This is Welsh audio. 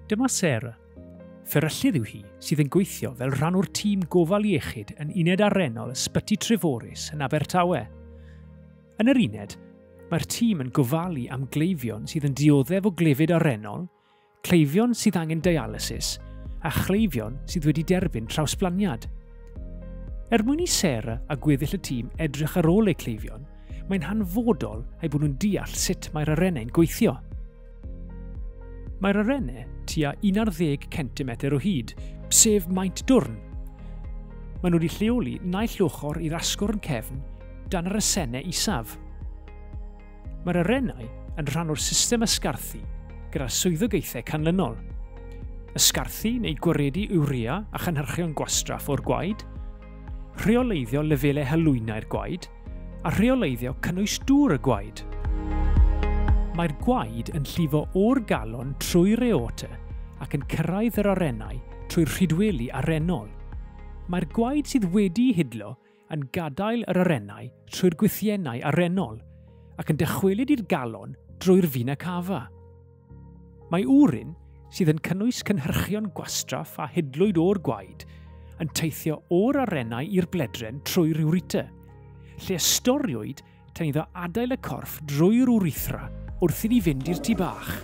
Dyma Sarah. Fferyllydd yw hi sydd yn gweithio fel rhan o'r tîm gofal iechyd yn uned arennol Ysbyty Treforys yn Abertawe. Yn yr uned, mae'r tîm yn gofalu am gleifion sydd yn dioddef o glefyd arennol, cleifion sydd angen dialysis a chleifion sydd wedi derbyn trawsblaniad. Er mwyn i Sarah a gweddill y tîm edrych ar ôl eu cleifion, mae'n hanfodol eu bod nhw'n deall sut mae'r arennau'n gweithio. Mae'r arennau tua 11 cm o hyd, sef maint dwrn. Maen nhw wedi lleoli naill ochr i'r asgwrn cefn dan yr asennau isaf. Mae'r arennau yn rhan o'r system ysgarthu gyda'r swyddogaethau canlynol. Ysgarthu neu gwaredu urea a chynhyrchion gwastraff o'r gwaed, rheoleiddio lefelau halwynau'r gwaed, a rheoleiddio cynnwys dŵr y gwaed. Mae'r gwaed yn llifo o'r galon trwy'r aorta ac yn cyrraedd yr arennau trwy'r rhydweli arennol. Mae'r gwaed sydd wedi'i hidlo yn gadael yr arennau trwy'r gwythiennau arennol ac yn dychwelyd i'r galon drwy'r vena cava. Mae wrin, sydd yn cynnwys cynhyrchion gwastraff a hidlwyd o'r gwaed, yn teithio o'r arennau i'r bledren trwy'r ureter, lle ystoriwyd tan iddo adael y corff drwy'r urethra wrth iddi fynd i'r tŷ bach.